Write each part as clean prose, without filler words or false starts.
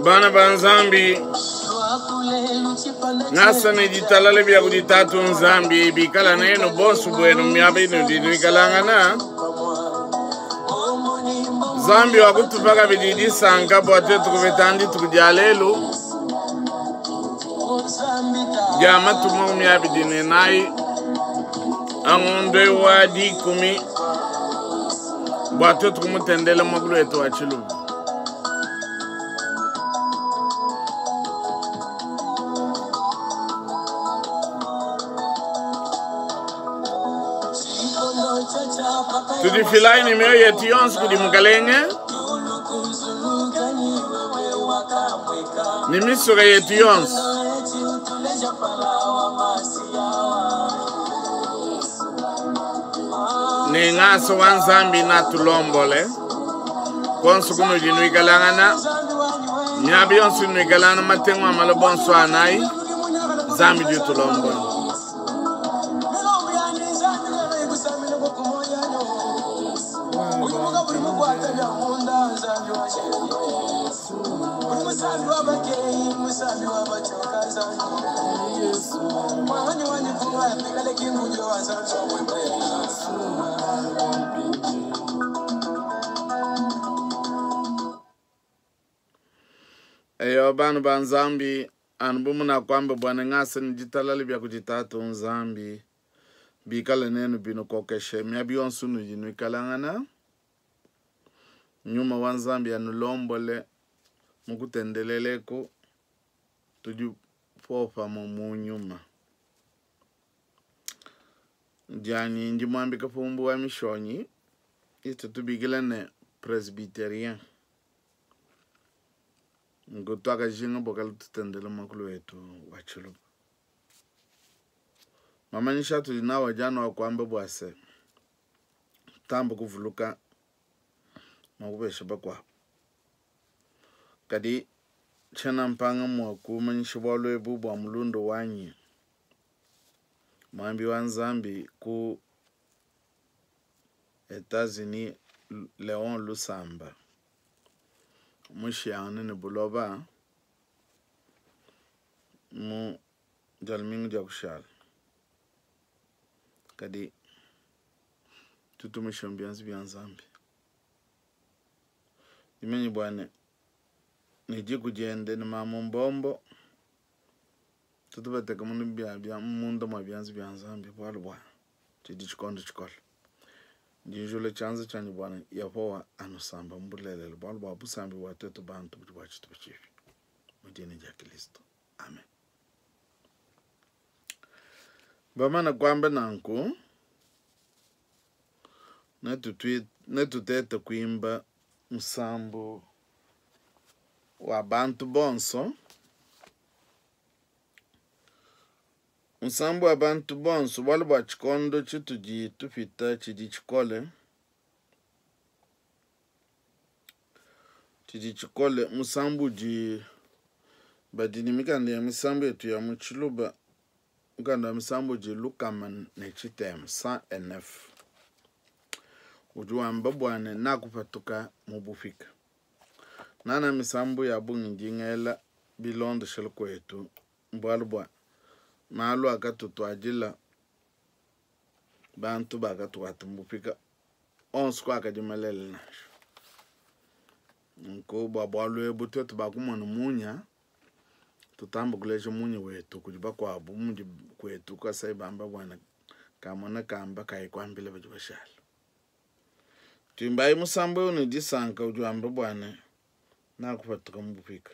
Bana ba Nzambi, ngasa ne ditalala bia kudi Tatu Nzambi bikala nenu bonso buenu miaba inudi nuikalangana. Nzambi wakutupa kabidi disanka bua tuetu kupeta dituku dia lelu dia matuku 24 a ngondo wa 10 bua tuetu kumutendela muakulu wetu wa Tshiluba. Tudifilayi ne mioyo yetu yonso kudi Mukalenge ne misuka yetu yonso. Ne ngasa wa Nzambi natulombole konso kunudi nuikalangana miaba yonso nuikalangana matengu a maloba onso anayi Nzambi ditulombola. Eyo bana ba Nzambi, anu bu munakuamba bua ne ngasa ne ditalala bia kudi Tatu Nzambi bikale nenu binukokeshe miaba yonso nudi nuikalangana. Nyuma wa Nzambi anulombole mu kutendelela eku, tudi popamue mu nyuma. Dianyi ndi muambi Kapumbu wa Mishonyi, itu tubikila ne Presbyterien. Nku tuakajinga bua kala tutendele muakulu wetu wa Tshiluba. Mamanyisha atudi nawu adi anu akuamba bua se, tamba kuvuluka mua kupesha bakuabu. Kadi tshiena mpanga mua kumanyisha bualu ebu bua mulunda wanyi muambi wa Nzambi ku Etats-Unis Leon Lusamba mushiyangane ne buloba mu dia lumingu dia kushala. Kadi tutumishe mu bianza bia Nzambi. Dimanye bua ne ne diku diende ne mamu Mbombo tutu bateka munu bia bia munda mua bianza bia Nzambi bualu bua tshidi tshikondo tshikole. Ndi njula tshianza tshianyi bua ne Yehowa anusamba mu bulelela bualu bua busambi bua tuetu bantu budi bua tshitupa tshipi. Mu dina dia Kristo. Amen. Bamana kuamba nanku, netutete kuimba musambu wa bantu bonso. Musambu wa bantu bonso, bualu bua tshikondo tshitudi tupita tshidi tshikole, tshidi tshikole. Musambu udi badi ne mikanda ya misambu yetu ya mu Tshiluba, mukanda wa misambu udi 109, 109. Udi wamba bua ne nakupatuka mu bupika. Nana misambu ya bungi ndi ngela bilondeshele kuetu, bualu bua malu akatutuadila bantu bakatuata mu bupika onso kuakadi malele nansha. Nunku bua bualu ebu tuetu bakumona munya, tutamba kuleja munya wetu kudi bakuabu mudi kuetu kasai bamba bwana kamona kamba kayi kuambila badi bashala. Tuimbayi musambu eu ne disanka udi wamba bwana nakupatuka mu bupika.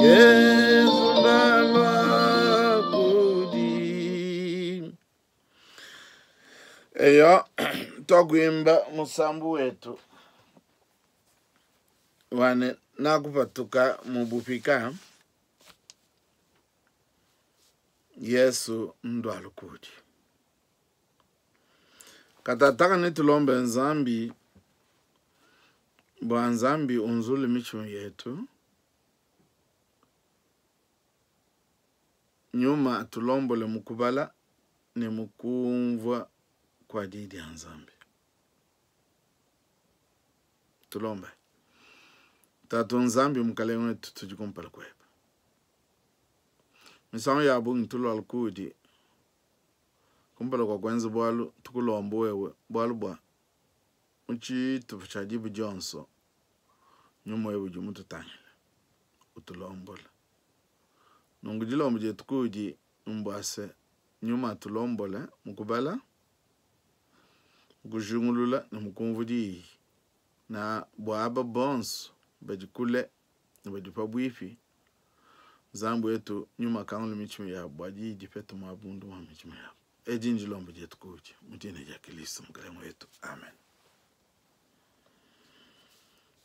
Yesu ndalua kudi. Eyo twakuimba musambu wetu wane nakupatuka mu bupika Yesu ndwalu kudi. Katataka netulombe Nzambi bua Nzambi unzule mitshima yetu, nyuma atulombole mu kubala ne mu kumvua kua di dia Nzambi. Tulombe. Tatu Nzambi Mukalenge wetu, tudi kumpala kuebe. Misangu ya bungi tulualu kudi kumpala kua kuenza bualu, tukulomba wewe bualu bua mu tshitupa tshia diba dionso nyuma wewe udi mututangila utulombola. Nunku dilomba dietu kudi mbua se nyuma atulombole mu kubala, mu kujingulula ne mu kumvua diyi, na bua aba bonso badi kule ne badi pabuipi Nzambi wetu nyuma akangula mitshima yabu bua diyi dipete muaba munda mua mitshima yabu. Edi ndilomba dietu kudi mu dina dia Kristo Mukalenge wetu, amen.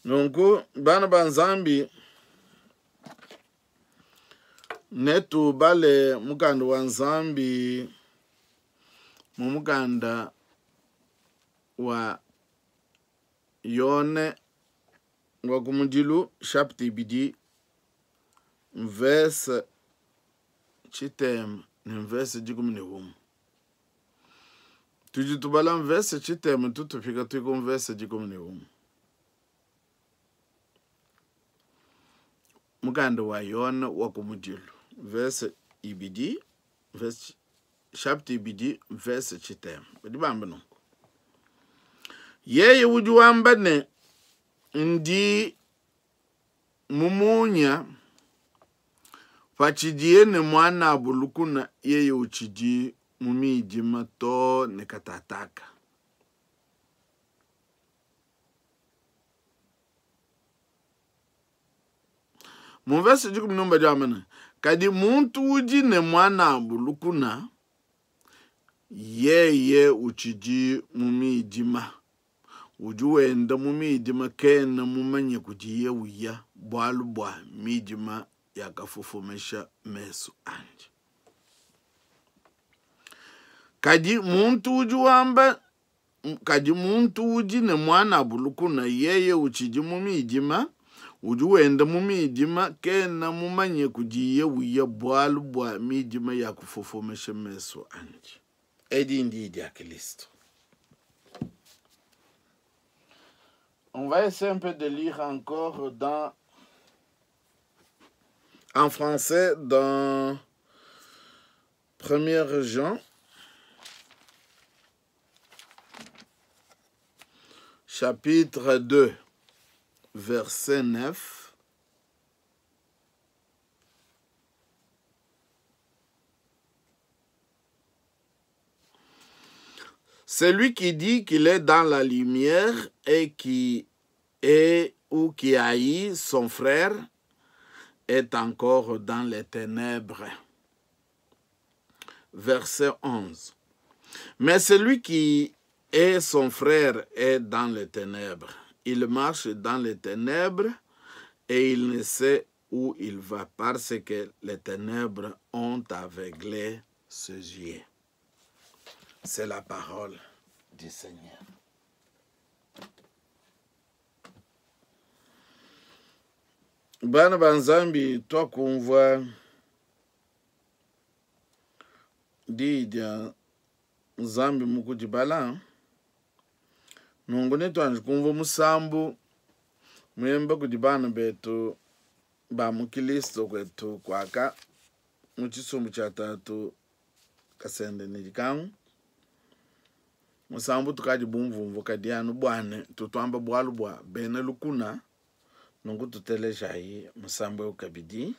Nunku bana ba Nzambi, netubale mukanda wa Nzambi mu mukanda wa Yone wa kumudilu chapitre ibidi mvese tshitema ne mvese dikumi ne umue. Tudi tubala mvese tshitema tutufika tuiku mvese dikumi ne umue. Mukanda wa Yone wa kumudilu mvese ibidi mvese chapitre ibidi mvese tshitema badi bamba nunku: yeye udi wamba ne ndi mumunya patshidiye ne muanabu lukuna, yeye utshidi mu midima to ne katataka. Mu mvese dikumi ne badi bamba ne kadi muntu udi ne muanabu lukuna, yeye utshidi mu midima, udi wenda mu midima, kena mumanye kudiye uya, bualu bua midima yakafofomesha mesu andi. Kadi muntu udi wamba kadi muntu udi ne muanabu lukuna, yeye utshidi mu midima, udi wenda mu midima, kena mumanye kudiye uya, bualu bua midima yakufofomesha mesu andi. Edi ndi dia Kristo. On va essayer un peu de lire encore en français dans 1 Jean, chapitre 2, verset 9. Celui qui dit qu'il est dans la lumière et qui est ou qui haït son frère est encore dans les ténèbres. Verset 11. Mais celui qui est son frère est dans les ténèbres. Il marche dans les ténèbres et il ne sait où il va parce que les ténèbres ont aveuglé ses yeux. C'est la parole du Seigneur. Bana ba Nzambi twakumvua diyi dia Nzambi mu kudibala, nunku netuanji kumvua musambu muemba kudi bana betu ba mu Kilisto kwetu kuaka mu tshisumbu tshia tatu Kasende ne Dikangu. Musambu tukadi bumvumvu kadi anu buane tutuamba bualu bua bena lukuna, nunku tutelejayi musambu eu kabidi.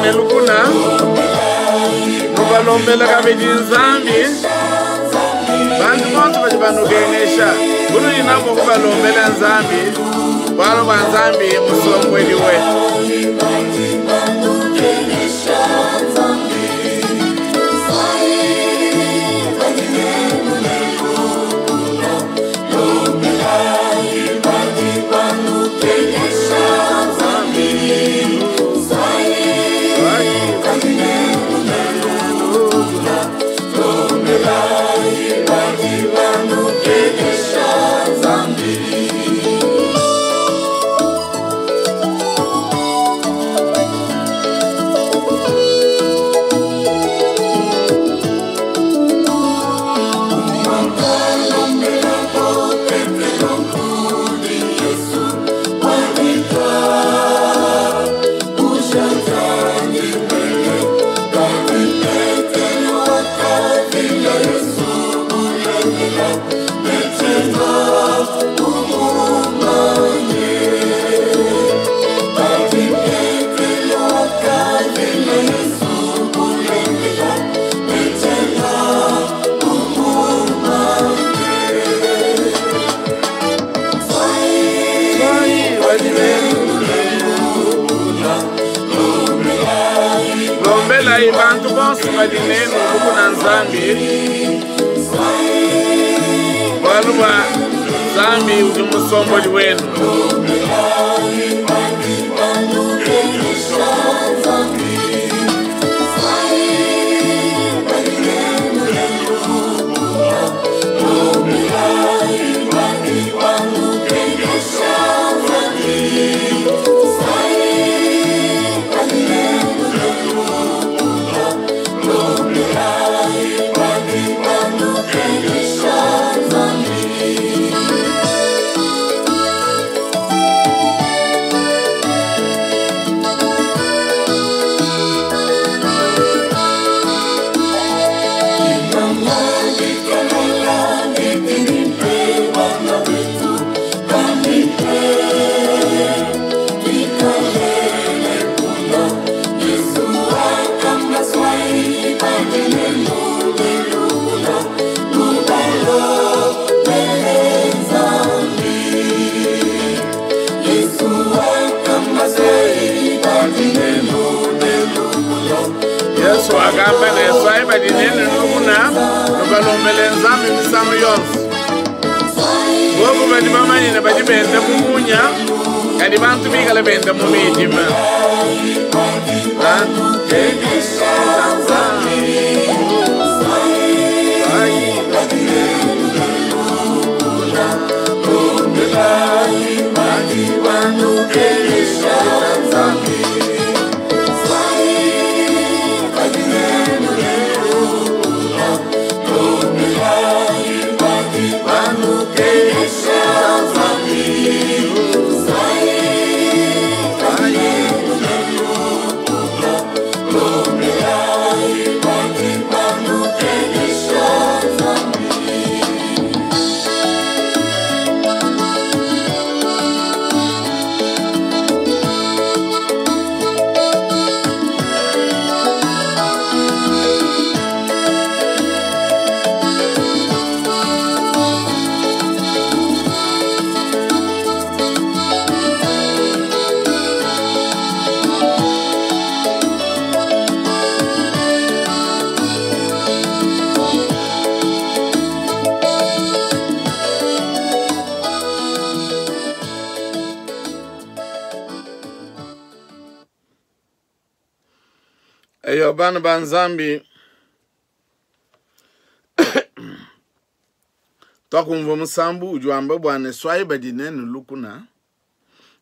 nenu ne lukuna, nubalombele kabidi Nzambi. Bantu bonso badi banukengesha, bunudi nabu kubalombela Nzambi, bualu bua Nzambi musombuedi wetu. Lombelayi bantu bonso badi nenu lukuna Nzambi, bualu bua Nzambi udi musombodi wenu. Yesu wakamba ne, Suayi badi nenu lukuna, nubalombele Nzambi misangu yonso. Bobu badi bamanye ne badi benda mu munya, kadi bantu bikale benda mu midima. Eyo bana ba Nzambi, twakumvua musambu udi wamba bua ne suayi badi nenu lukuna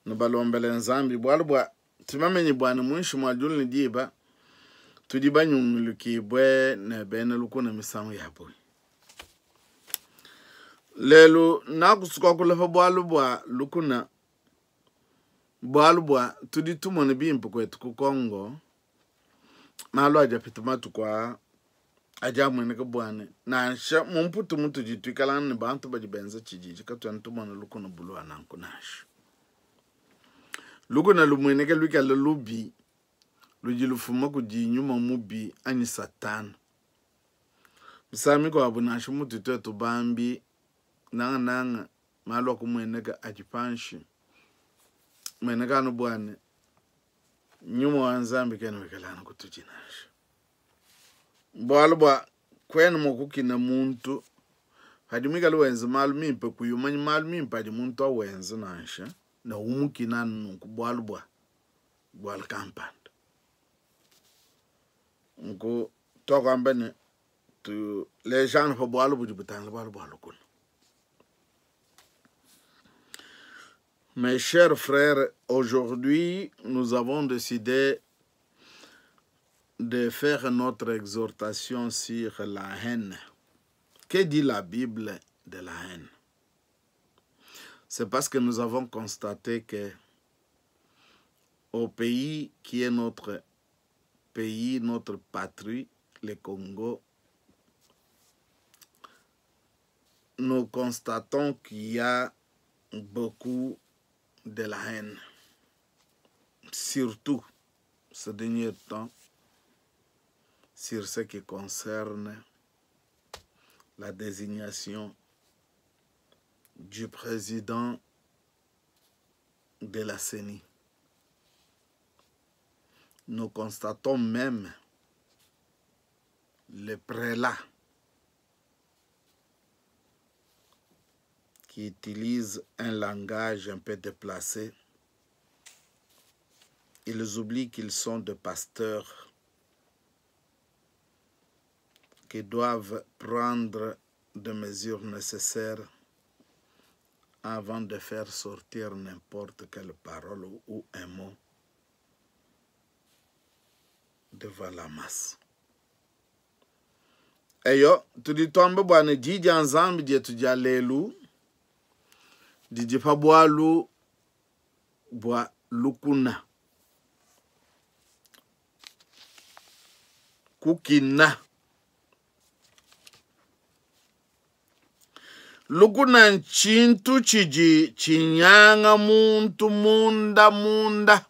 nubalombele Nzambi, bualu bua tumamenyi bua ne muinshi mua diulu ne diba tudi banyungulukibue ne bena lukuna misangu ya bungi. Lelu nakusukuakula pa bualu bua lukuna, bualu bua tudi tumona bimpe kuetu ku Congo malu adi apita matuku aa adi amueneka bua ne nansha mu Mputu mutudi tuikalangana ne bantu badi benza tshididi katuena tumona lukuna bulua nanku nansha. Lukuna lumueneke luikale lubi. ludi lufuma kudi nyuma mubi anyi Satana. Misangu mikuabu nansha mutu tuetu bambi, nangananga malu akumueneka adi panshi, mueneka anu bua ne, nyuma wa Nzambi kena wikala anu kutudi nansha. Bualu bua kuena mua kukina muntu padi muikale wenza malu mimpe, kuyi umanya malu mimpe adi muntu awenza nansha, ne umukina anu nunku bualu bua bualu kampanda. Nku tuakuamba ne tuleja anu pa bualu budi butangila bualu bua lukuna. Mes chers frères, aujourd'hui, nous avons décidé de faire notre exhortation sur la haine. Que dit la Bible de la haine? C'est parce que nous avons constaté que au pays qui est notre pays, notre patrie, le Congo, nous constatons qu'il y a beaucoup de la haine, surtout ce dernier temps, sur ce qui concerne la désignation du président de la CENI. Nous constatons même le prélat qui utilise un langage un peu déplacé. Ils oublient qu'ils sont des pasteurs qui doivent prendre des mesures nécessaires avant de faire sortir n'importe quelle parole ou un mot devant la masse. Eyo, tudi tuamba bua ne di dia Nzambi dietu dia lelu didi pa bualu bua lukuna, kukina. Lukuna ntshintu tshidi tshinyanga muntu munda munda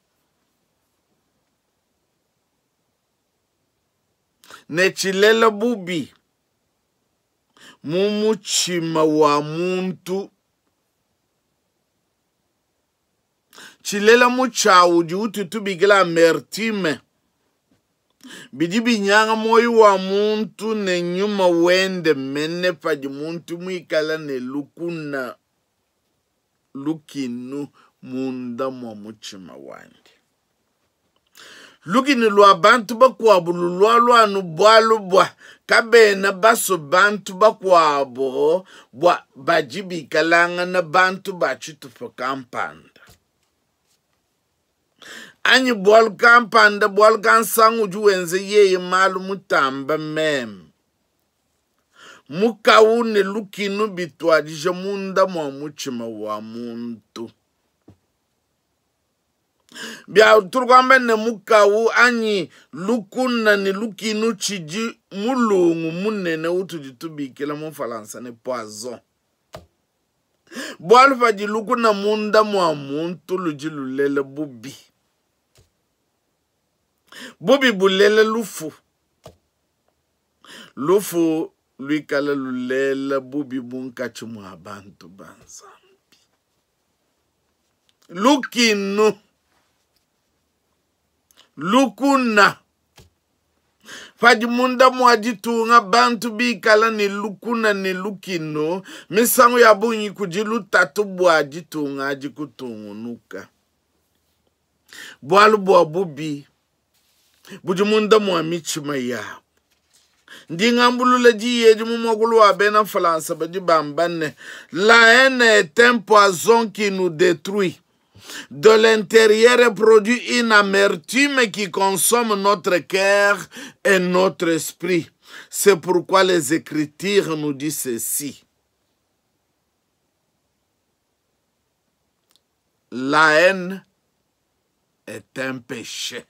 ne tshilela bubi mu mutshima wa muntu. Tshilela mutshiawu udi ututubikila amertume. Bidi binyanga muoyo wa muntu ne nyuma wende mene padi muntu muikale ne lukuna lukinu munda mua mutshima wandi. Lukinu lua bantu bakuabu lulualua anu bualu bua kabena basue bantu bakuabu bua badi bikalangana bantu ba tshitupa kampanda anyi bualu kampanda, bualu kansanga udi wenza yeye malu mutamba meme. Mukawu ne lukinu bituadija munda mua mutshima wa muntu. Bia turi ne mukawu anyi lukuna ne lukinu tshidi mulungu munene utudi tubikila mu Falansa ne poison. Bualu padi lukuna munda mua muntu ludi lulela bubi. Bubi bulela lufu. Lufu luikala lulela bubi munkatshi mua bantu ba Nzambi. Lukinu, lukuna. Padi munda mua ditunga bantu bikala ne lukuna ne lukinu, misangu ya bungi kudi lutatu bua ditunga adi kutungunuka. Bualu bua bubi budi munda mua mitshima yabu. Ndi ngambulula diyi edi mu muakulu wa bena Falansa badi bamba ne, la haine est un poison qui nous détruit. De l'intérieur produit une amertume qui consomme notre cœur et notre esprit. C'est pourquoi les Écritures nous disent ceci. La haine est un péché.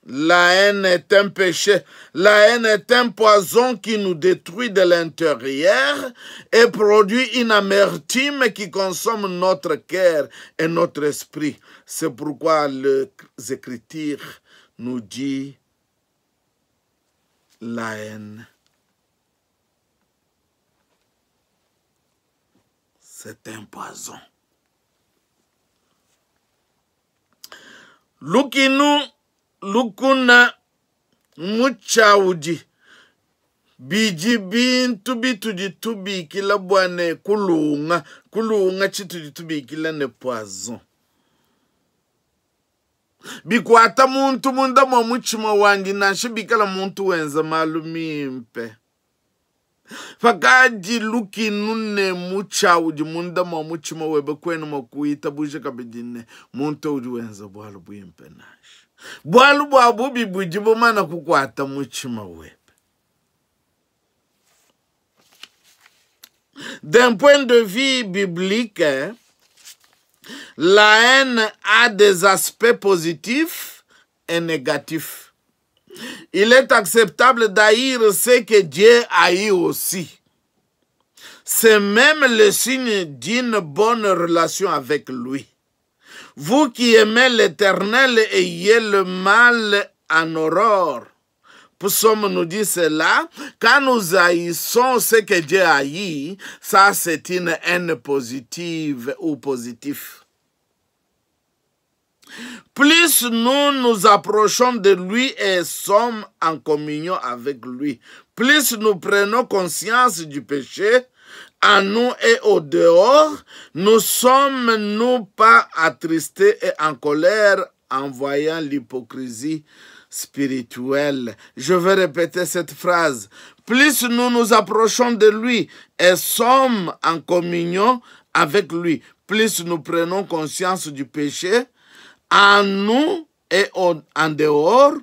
La haine est un péché. La haine est un poison qui nous détruit de l'intérieur et produit une amertume qui consomme notre cœur et notre esprit. C'est pourquoi les Écritures nous disent la haine, c'est un poison. Lukinu lukuna mutshiawudi bidi bintu bitudi tubikila bua ne kulunga, kulunga tshitudi tubikila ne poison. Bikuata muntu munda mua mutshima wandi, nansha bikala muntu wenza malu mimpe. Pakadi lukinu ne mutshiawudi munda mua mutshima webe, kuena mua kuitabuja kabidi ne muntu udi wenza bualu buimpe nansha. Bualu bua bubi budi bumana kukuata mutshima webe. D'un point de vue biblique, la haine a des aspects positifs et négatifs. Il est acceptable d'haïr ce que Dieu haït aussi. C'est même le signe d'une bonne relation avec lui. Vous qui aimez l'Éternel, ayez le mal en horreur. Psaume nous dit cela, quand nous haïssons ce que Dieu haït, ça c'est une haine positive ou positive. Plus nous nous approchons de lui et sommes en communion avec lui, plus nous prenons conscience du péché en nous et au dehors, nous sommes nous pas attristés et en colère en voyant l'hypocrisie spirituelle. Je vais répéter cette phrase. Plus nous nous approchons de lui et sommes en communion avec lui, plus nous prenons conscience du péché en nous et en dehors,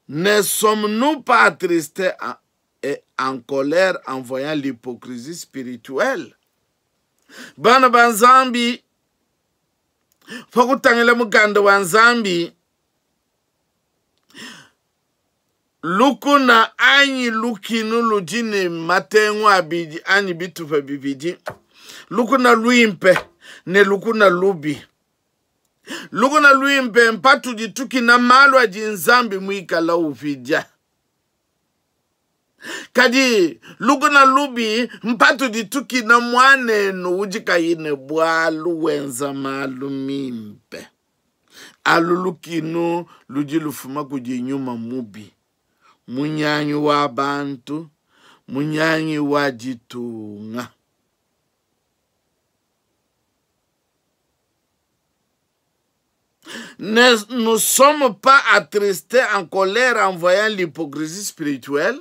ne sommes-nous pas attristés et en colère en voyant l'hypocrisie spirituelle? Bana ba Nzambi, pa kutangila mukanda wa Nzambi, lukuna anyi lukinu ludi ne matengu abidi anyi bitupa bibidi, lukuna luimpe ne lukuna lubi. Lukuna luimpe mpatudi tukina malu adi Nzambi muikala upidia. Kadi lukuna lubi mpatudi tukina mwanenu udi kayi bualu wenza malu mimpe. Alu lukinu ludi lufuma kudi nyuma mubi. Munyanyi wa bantu, munyanyi wa ditunga. Ne nous sommes pas attristés en colère en voyant l'hypocrisie spirituelle.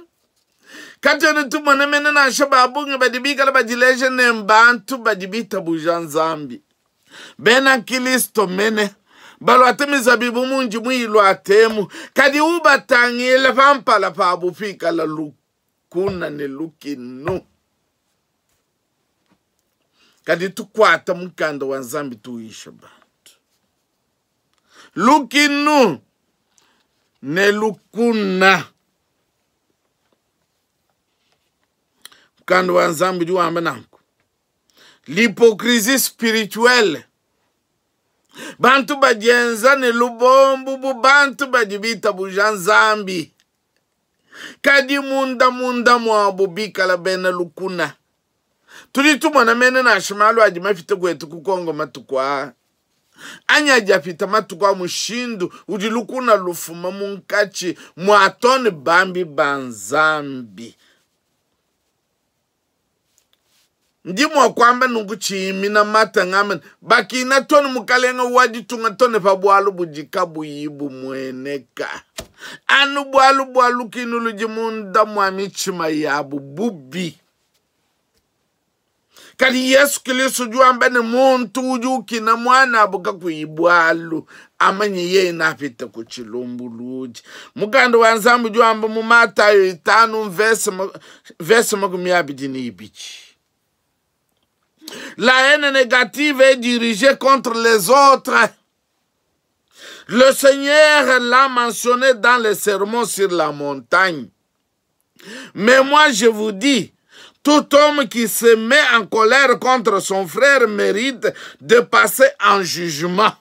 Kati tumone mene nansha ba bungi badi bikala badileja ne mbantu badi bitabuja Nzambi. Bena Kristo mene balwate mizabibu munji mwilwatemu kadi ubatangile pampala pabu pikala lukuna ne lukinu. Kadi tukwata mukanda wa Nzambi tuisha bantu. Lukinu ne lukuna. Mukanda wa Nzambi udi wamba nanku. L'hypocrisie spirituelle. Bantu badienza ne lubombu bu bantu badi bitabuja Nzambi. Kadi munda munda mwabu bikala bena lukuna. Tudi tumona mene nansha malu adi mapite kwetu ku Kongo matuku aa. Anyi adi apita matuku a mushindu udi lukuna lufuma munkatshi mua tone bambi ba Nzambi. Ndi mua kuamba nunku tshiimina mata ngamba bakina tone mukalenga wa ditunga tone pa bualu budi kabuyi bumueneka. Anu bualu bua lukinu ludi munda mua mitshima yabu bubi. Kadi Yesu Kristo udi wamba ne muntu udi ukina mwana abu kakuyi bualu, amanye yeye napita ku tshilumbuludi. Mukanda wa Nzambi udi wamba mu Matayo itanu verse makumi abidi ne ibidi. La haine négative est dirigée contre les autres. Le Seigneur l'a mentionné dans le sermon sur la montagne. Mais moi, je vous dis, tout homme qui se met en colère contre son frère mérite de passer en jugement.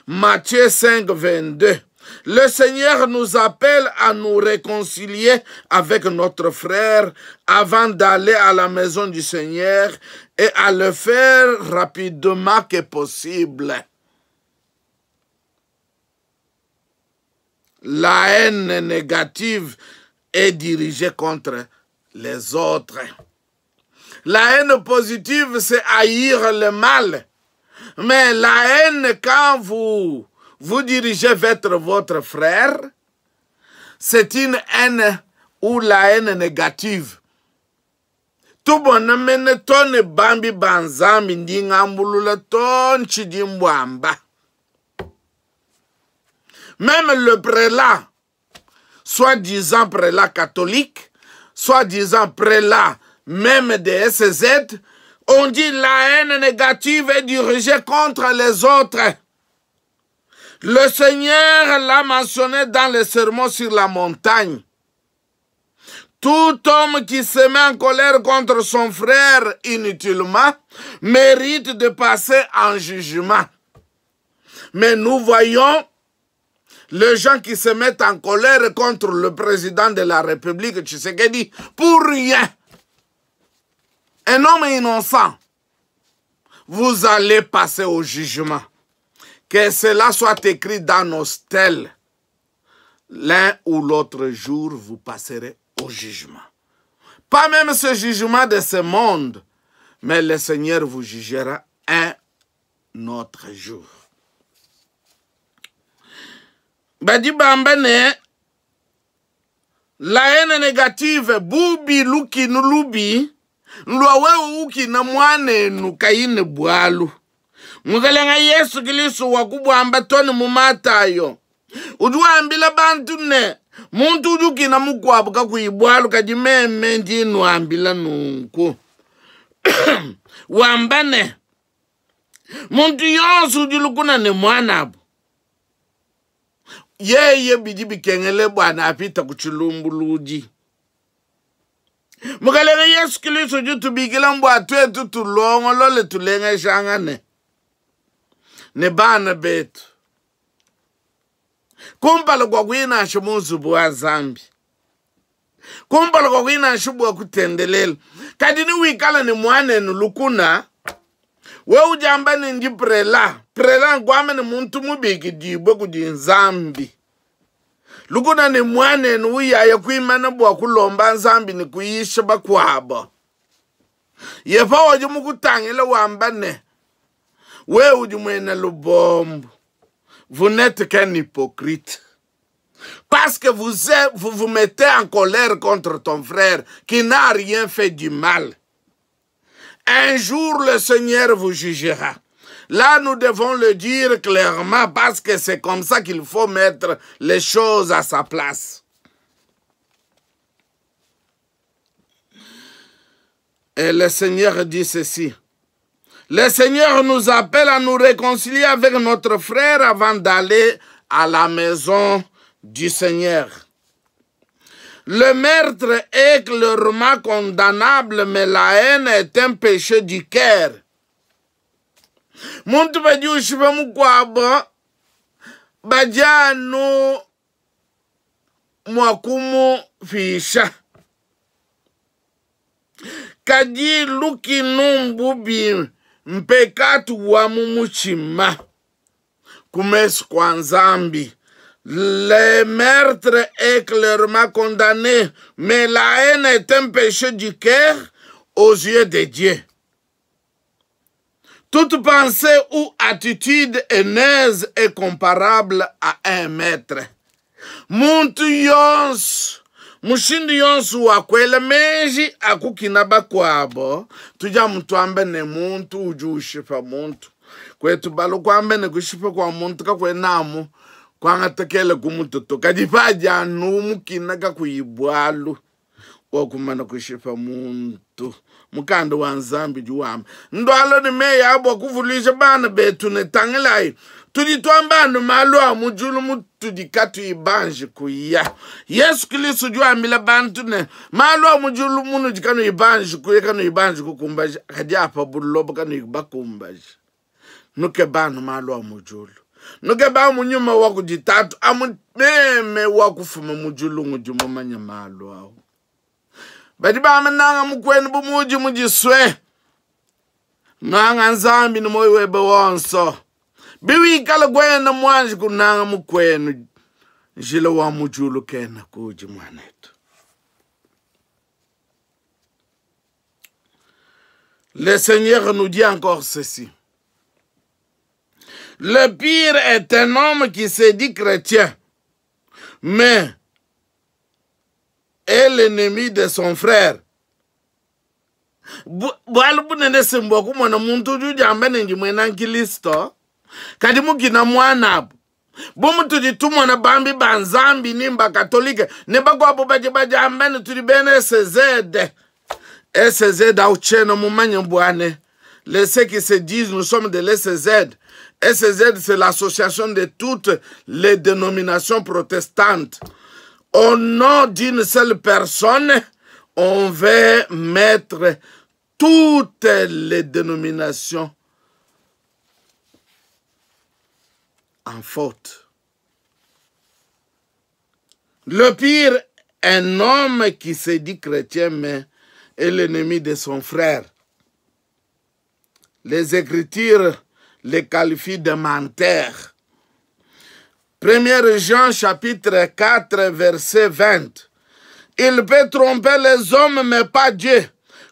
Matthieu 5, 22. Le Seigneur nous appelle à nous réconcilier avec notre frère avant d'aller à la maison du Seigneur et à le faire rapidement que possible. La haine négative est dirigée contre les autres. La haine positive, c'est haïr le mal. Mais la haine, quand vous vous dirigez vers votre frère, c'est une haine ou la haine négative. Tubona mene tone bambi banzambi ndingambulula ton chidimbwamba. Même le prélat, soi-disant prélat catholique, soi-disant prélat même des SZ, on dit la haine négative est dirigée contre les autres. Le Seigneur l'a mentionné dans le sermon sur la montagne. Tout homme qui se met en colère contre son frère inutilement mérite de passer en jugement. Mais nous voyons les gens qui se mettent en colère contre le président de la République, Tshisekedi, pour rien. Un homme innocent. Vous allez passer au jugement. Que cela soit écrit dans nos stèles. L'un ou l'autre jour, vous passerez au jugement. Pas même ce jugement de ce monde, mais le Seigneur vous jugera un autre jour. Badi bamba ne la haine négative bubi luki nulubi lwa wewe ukina mwanenu kaine bwalu. Mukalenga Yesu Kristo wakubwamba toni mumatayo. Uduambila bantu ne muntu udukina mukwabu kakuibwalu kadimeme ndinwambila nunku. Wambane muntu yonse udilukuna ne mwanabu. Yeye bidi bikengele bwana apita kuchilumbuludi. Mukalenga Yesu Kristo jutubikila mbwa twetu tulongolole tulengeshangane ne bana betu. Kumpala kwa kwina shimuzu wa Zambi. Kumpala kwa kwina shibu wa kutendelela. Kadini wikala ni mwane nulukuna. We ujamba ni ndi prela. Prela ngwame ni muntu mubiki dibwe kudi Nzambi. Lukuna ni mwane nuya ya kuimana bwa kulomba Nzambi ni kuisha bakwabo. Yefa wajumu kutangela wambane. We ujumwena lubombo. Vous n'êtes qu'un hypocrite. Parce que vous vous, vous mettez en colère contre ton frère qui n'a rien fait du mal. Un jour, le Seigneur vous jugera. Là, nous devons le dire clairement parce que c'est comme ça qu'il faut mettre les choses à sa place. Et le Seigneur dit ceci. Le Seigneur nous appelle à nous réconcilier avec notre frère avant d'aller à la maison du Seigneur. Le meurtre est clairement condamnable, mais la haine est un péché du cœur. Muntu badi ushiba mukwabo, bajano mwakumu fisha. Kadi luki numbubi mpekatu wa mumuchima. Kumesu kwa Nzambi. Le meurtre est clairement condamné, mais la haine est un péché du cœur aux yeux de Dieu. Toute pensée ou attitude haineuse est comparable à un maître. Muntu yonso, mushindu yonso wakwela meji akukina bakwabo, tuja muntu ambe ne muntu uju ushipa muntu. Kwetu balu kwambe ne kushipa kwa muntu kakwenamu. Kwangatekele kumutoto kadipaja numukina kakuyibwalu. Wakumana kushipa muntu. Mukanda wa Nzambi udi wamba ndualua ne meyi a bua kuvuluija bana betu ne, tangilayi, tudi tuamba anu malu a mu diulu mutudi katuyi banji kuya. Yesu Kristo udi wambila bantu ne, malu a mu diulu munudi kanuyi banji kuya, kanuyi banji kukumbaja, kadi a pa buloba kanuyi bakumbaja. Nukeba anu malu a mu diulu, nukeba amu nyuma wa kudi Tatu, amu meme wa kufuma mu diulu ngudi mumanye malu au. Badi bamba nanga mukuenu bu muudi mudisue, nanga Nzambi ne muoyo webe wonso. Biwikala kuena muanji kunanga mukuenu, njila wa mu diulu kena kudi muanetu. Le Seigneur nous dit encore ceci. Le pire est un homme qui se dit chrétien, mais est l'ennemi de son frère. Bualu bunene se mbua kumona muntu udi udiamba ne ndi muena nkristo, kadi mukina muanabu. Bu mutudi tumona bambi ba Nzambi ni mba katolike ne bakuabu badi badiamba ne tudi bena SZ. SZ au tshiena mumanye bua ne les ceux qui se disent nous sommes de l'SZ. SZ, c'est l'association de toutes les dénominations protestantes. Au nom d'une seule personne, on veut mettre toutes les dénominations en faute. Le pire, un homme qui se dit chrétien, mais est l'ennemi de son frère. Les Écritures les qualifient de menteurs. 1 Jean chapitre 4, verset 20. Il peut tromper les hommes, mais pas Dieu.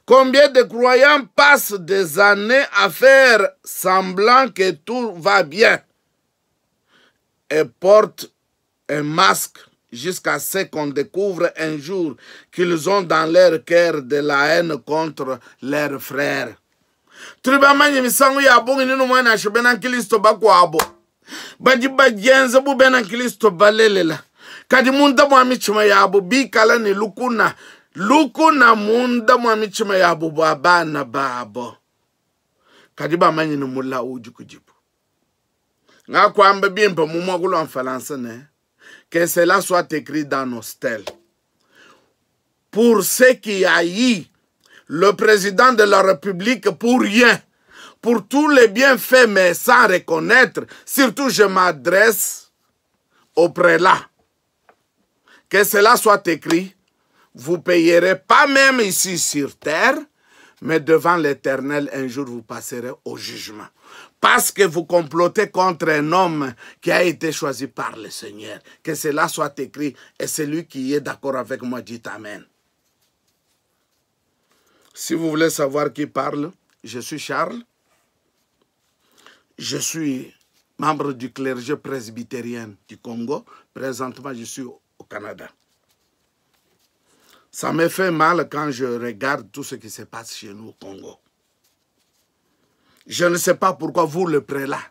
Combien de croyants passent des années à faire semblant que tout va bien et portent un masque jusqu'à ce qu'on découvre un jour qu'ils ont dans leur cœur de la haine contre leurs frères. Tudi bamanye misangu ya bungi ne numue nansha bena nkristo bakuabo badi badienza bu bena nkristo balelela, kadi munda mua mitshima yabo bikala ne lukuna, lukuna munda mua mitshima yabo bua bana babo, kadi bamanye ne mulawu udi kudibo. Ngakuamba bimpe mu muakulu wa Mfalansa ne, que cela soit écrit dans nos stèles. Pour ceux qui haïssent le président de la République pour rien, pour tous les bienfaits, mais sans reconnaître, surtout je m'adresse au prélat. Que cela soit écrit, vous payerez pas même ici sur terre, mais devant l'Éternel, un jour vous passerez au jugement. Parce que vous complotez contre un homme qui a été choisi par le Seigneur. Que cela soit écrit, et celui qui est d'accord avec moi dit Amen. Si vous voulez savoir qui parle, je suis Charles. Je suis membre du clergé presbytérien du Congo. Présentement, je suis au Canada. Ça me fait mal quand je regarde tout ce qui se passe chez nous au Congo. Je ne sais pas pourquoi vous, le prélat,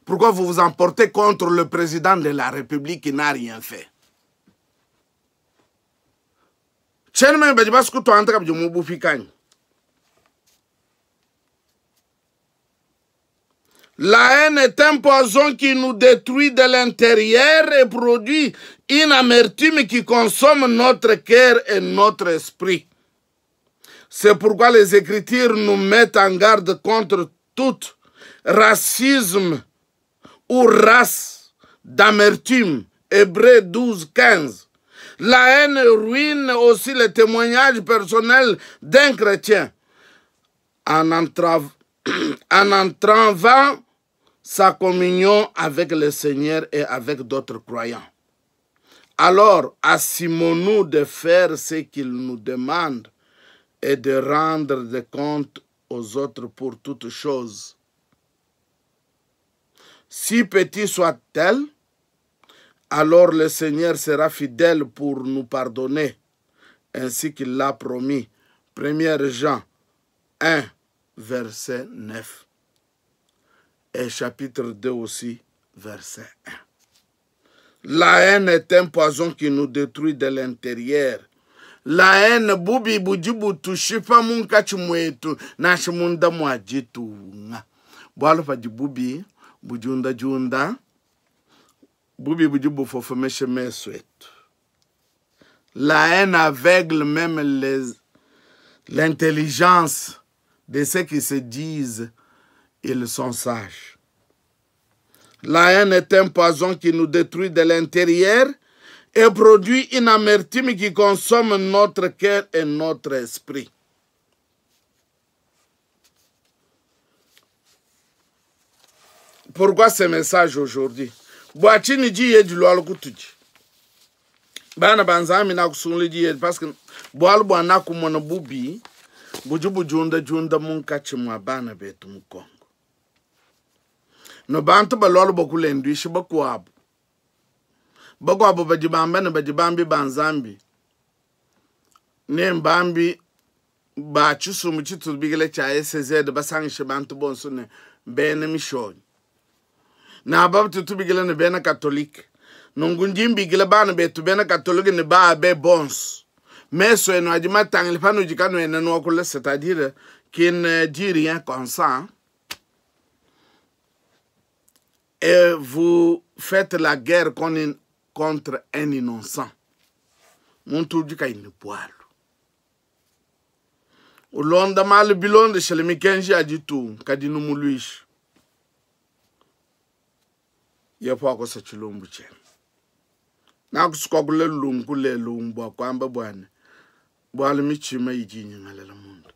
pourquoi vous vous emportez contre le président de la République qui n'a rien fait. La haine est un poison qui nous détruit de l'intérieur et produit une amertume qui consomme notre cœur et notre esprit. C'est pourquoi les Écritures nous mettent en garde contre tout racisme ou race d'amertume. Hébreux 12, 15. La haine ruine aussi le témoignage personnel d'un chrétien en entravant sa communion avec le Seigneur et avec d'autres croyants. Alors, assumons-nous de faire ce qu'il nous demande et de rendre des comptes aux autres pour toutes choses. Si petit soit-elle, alors le Seigneur sera fidèle pour nous pardonner, ainsi qu'il l'a promis. 1 Jean 1, verset 9. Et chapitre 2 aussi, verset 1. La haine est un poison qui nous détruit de l'intérieur. La haine, bubi budi butushipa munkatshi muetu nansha munda mua ditunga. Bualu padi bubi budiundadiunda, bubi budi bufofomesha mesu etu. La haine aveugle même les l'intelligence de ceux qui se disent ils sont sages. La haine est un poison qui nous détruit de l'intérieur et produit une amertume qui consomme notre cœur et notre esprit. Pourquoi ce message aujourd'hui? Bua tshinyi diyi edi lualu kutudi? Bana ba Nzambi nakusungula diyi edi parce que bualu bua nakumona bubi budi budiundadiunda munkatshi mua bana betu mu Congo. No bantu balualu bua kulenduisha bakuabu. Bakuabu badi bamba ne badi bambi ba Nzambi ne mbambi ba tshisumbu tshitubikila tshia ECZ basangishe bantu bonso ne bena mishonyi ne aba tutubikila ne bena katolike. Nunku ndi mbikila bana betu bena katolike ne baabe bonso, mesu enu adi matangile panudi kanuena nuakula, c'est-à-dire qui ne dit rien consent, et vous faites la guerre contre un innocent. Muntu udi kayi ne bualu ulonda malu bilondeshele mikenji ya ditunga, kadi numuluisha. Yehowa akosa tshilumbu tshienu. Nakusukuakula lunku lelu bua kuamba bua ne, bualu mitshima idi inyingalala munda.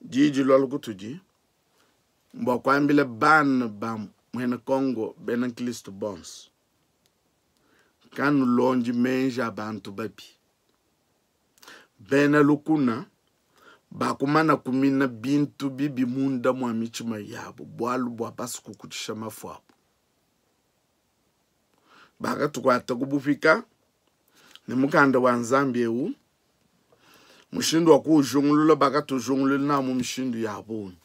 Diyi dilualu kutudi mbua kuambila bana ba muena Kongo bena nkristo bonso, kanulondi meji a bantu babi, bena lukuna bakumana kumina bintu bibi munda mua mitshima yabu bualu bua basu kukutshisha mafu abu. Bakatukuata ku bupika ne mukanda wa Nzambi eu, mushindu wa kuujungulula bakatujungulula nawu mu mishindu ya bungi.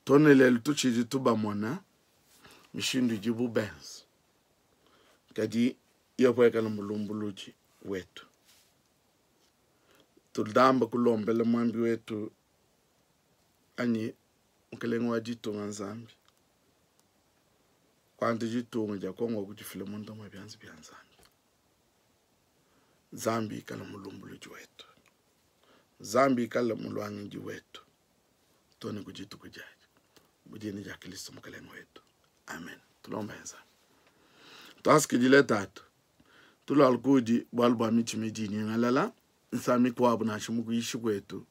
Too ne lelu tutshidi tubamona mishindu idibu benza, kadi Yehowa ikala mulumbuludi wetu. Tudamba kulombela muambi wetu anyi mukelenge wa ditunga Nzambi kuanta ditunga dia Kongo kudifila munda mua bianza bia Nzambi. Nzambi ikala mulumbuludi wetu, Nzambi ikala muluangidi wetu too ne ku dituku diadi mu dina dia Kristo mukelenge wetu, amen. Tulombe Nzambi, tuasakidile Tatu, tulualu kudi bualu bua mitshima idi inyingalala nsa mikuabu nansha mu kuyishi kuetu,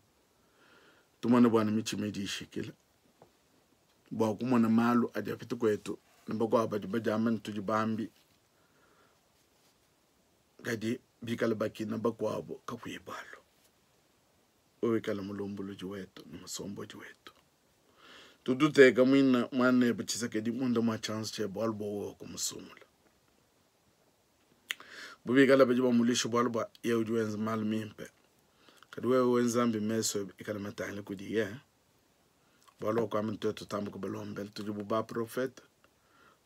tumone bua ne mitshima idi ishikila bua kumona malu adi apita kuetu ne bakuabu badi badiamba ne tudi bambi, kadi bikale bakina bakuabu kakuyi bualu. Wewe ikale mulumbuludi wetu ne musombodi wetu. Tututeka muina muanebe Tshisekedi munda mua tshianza tshiebe bualu bua wewe kumusungula. Bu bikale badi bamuluisha bualu bua yeye udi wenza malu mimpe, kadi wewe we Nzambi mesu ebe ikale matangile kudiye, bualu wakuamba ne tuetu tutambe kubalombela, tudi bu baprofete,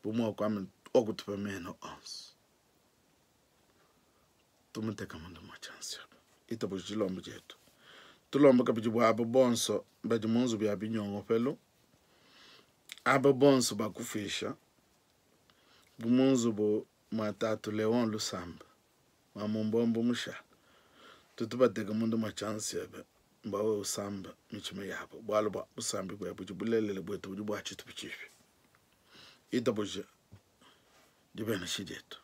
bu muwakuamba ne wakutupa mena onso. Tumuteka munda mua tshianza tshiebe, itabuja dilomba dietu. Tulomba kabidi bua aba bonso badi mu nzubu ya binyongopelu, aba bonso bakufuisha, bu mu nzubu mua tatu Leon Lusamba wa mu Mbombo mushala, tutu bateka munda mua tshianza tshiebe bua wewe usamba mitshima yabo, bualu bua busambi buebe budi bulelela buetu budi bua tshitupa tshipi. Itabuja dibenesha dietu.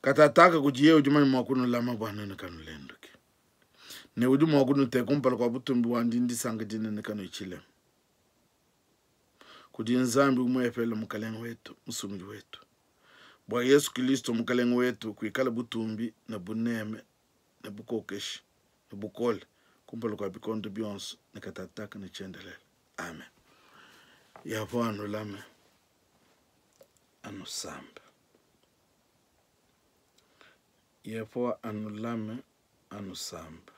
Katataka kudiye udi manya mua kunulama bua nuenu kanulenduki, ne udi mua kunuteka kumpala kua butumbi buandi ndisanka dinene kanuyi tshilema. Kudi Nzambi umuepele Mukalenge wetu, Musungidi wetu, bua Yesu Kilisto Mukalenge wetu kuikala butumbi ne buneme ne bukokeshi ne bukole kumpala kua bikondo bionso ne katataka ne tshiendelele. Amen. Yehowa anulame, anusambe. Yehowa anulame, anusambe.